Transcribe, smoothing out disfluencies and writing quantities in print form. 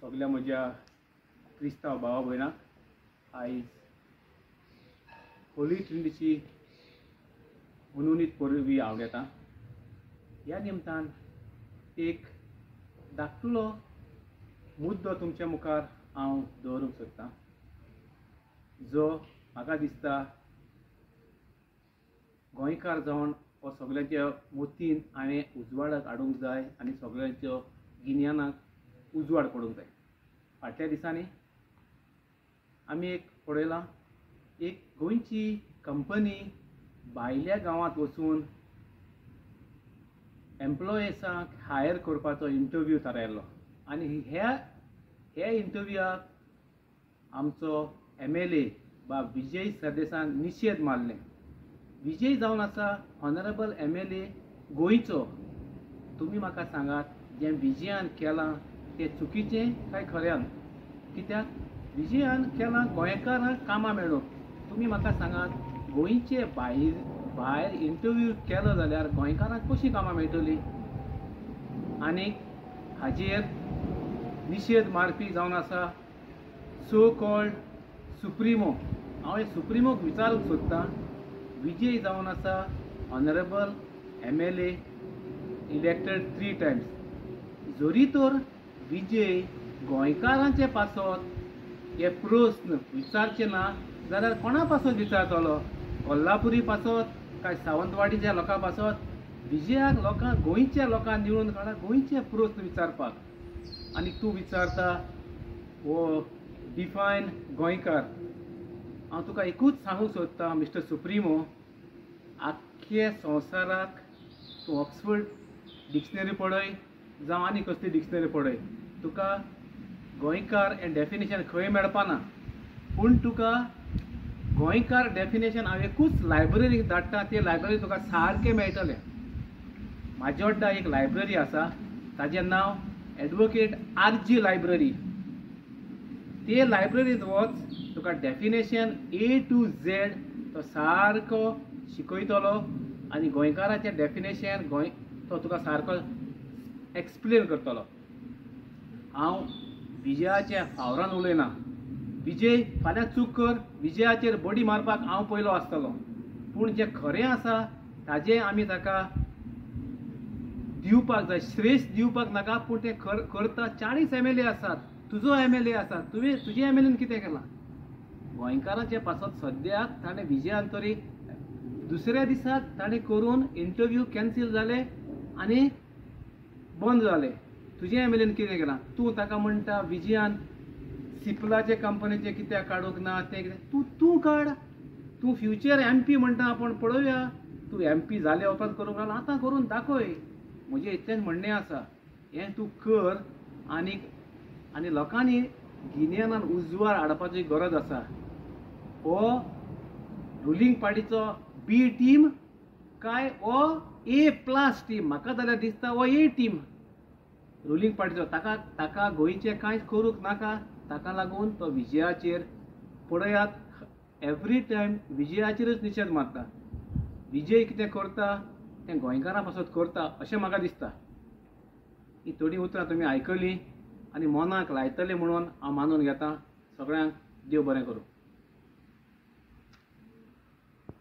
सगळ्या म्हज्या क्रिस्तांव भावा भयणांक आयज होली ट्रिनिटीची मनोनीत परबी आवडटा. ह्या निमतान एक धाकटुलो मुद्दो तुमच्या मुखार हांव दवरूंक सोदतां, जो म्हाका दिसता गोंयकार जावन हो सगळ्यांच्या मतीन हांवें उजवाडाक हाडूंक जाय आनी सगळ्यांच्या गिन्यानाक उजवाड पडूंक जाय. फाटल्या दिसांनी आमी एक पळयलां, एक गोंयची कंपनी भायल्या गांवांत वचून एम्प्लॉइजांक हायर करपाचो इंटरव्यू थारायल्लो आनी ह्या इंटरव्यूआक आमचो MLA बाब विजय सरदेसान निशेध मारलें. विजय जावन आसा ऑनरेबल MLA गोंयचो. तुमी म्हाका सांगात, जें विजयान केलां तें चुकीचें काय खऱ्यान? कित्याक विजयान केलां गोंयकारांक कामां मेळूंक. तुमी म्हाका सांगात, गोंयचे भायर इंटरव्यू केलो जाल्यार गोंयकारांक कशीं कामां मेळटलीं? आनी हाजेर निशेध मारपी जावन आसा सो कॉल्ड सुप्रिमो. हांव हे सुप्रिमोक विचारूंक सोदतां, विजय जावन आसा ऑनरेबल MLA elected 3 times, जरी तर विजय गोंयकारांचे पासत हे प्रस्न विचारचे ना जाल्यार कोणा पासत विचारतलो? कोल्हापुरी पासत काय सावंतवाडीच्या लोकां पासत? विजयाक लोकांक, गोंयच्या लोकांक निवडून काडा गोंयचे प्रस्न विचारपाक. आनी तूं विचारता हो डिफायन गोंयकार. हांव तुका एकूच सांगूंक सोदतां मिस्टर सुप्रिमो, आख्खे संवसाराक तूं ऑक्सफर्ड डिक्शनरी पळय जावं आनी कसली डिक्शनरी पळय, तुका गोंयकार हें डेफिनेशन खंय मेळपाना. पूण तुका गोंयकार डेफिनेशन हांव एकूच लायब्ररीक धाडटा, ते लायब्ररी तुका सारकें मेळटलें. माजोड्डा एक लायब्ररी आसा, ताजें नांव एडवोकेट RG library. ते लायब्ररींत वच, तुका डेफिनेशन A to Z तो सारको शिकयतलो आनी गोंयकाराचें डेफिनेशन गोंय तो तुका सारको एक्सप्लेन करतलो. हांव विजयाच्या फावरान उलयना. विजय फाल्यां चूक कर, विजयाचेर बडी मारपाक हांव पयलो आसतलो, पूण जें खरें आसा ताजें आमी ताका दिवपाक जाय, श्रेश्ठ दिवपाक नाका. पूण तें करता. 40 MLA आसात, तुजो MLA आसा, तुवें तुजे MLAन कितें केलां गोंयकारांचे पासत? सद्याक ताणें विजयान तरी दुसऱ्या दिसाक ताणें करून इंटरव्यू कॅन्सील जाले आनी बंद जाले. तुजे MLAन कितें केलां? तूं ताका म्हणटा विजयान सिपलाचे कंपनीचे कित्याक काडूंक ना, तें कितें? तूं तूं काड, तूं फ्युचर MP म्हणटा, आपूण पळोवया तूं MP जाले उपरांत करूंक लागला, आतां करून दाखय. म्हजें इतलेंच म्हणणें आसा, हें तूं कर आनी आनी लोकांनी गिन्यानान उजवाड हाडपाची गरज आसा. हो रुलींग पार्टीचो B team काय हो A+ team? म्हाका जाल्यार दिसता हो A team ruling पार्टीचो. ताका ताका गोंयचें कांयच करूंक नाका, ताका लागून तो विजयाचेर पळयात एवरी टायम विजयाचेरच निशेध मारता. विजय कितें करता तें गोंयकारां पासत करता अशें म्हाका दिसता. ही थोडीं उतरां तुमी आयकलीं आनी मनाक लायतले म्हणून हांव मानून घेतां. सगळ्यांक देव बरें करूं.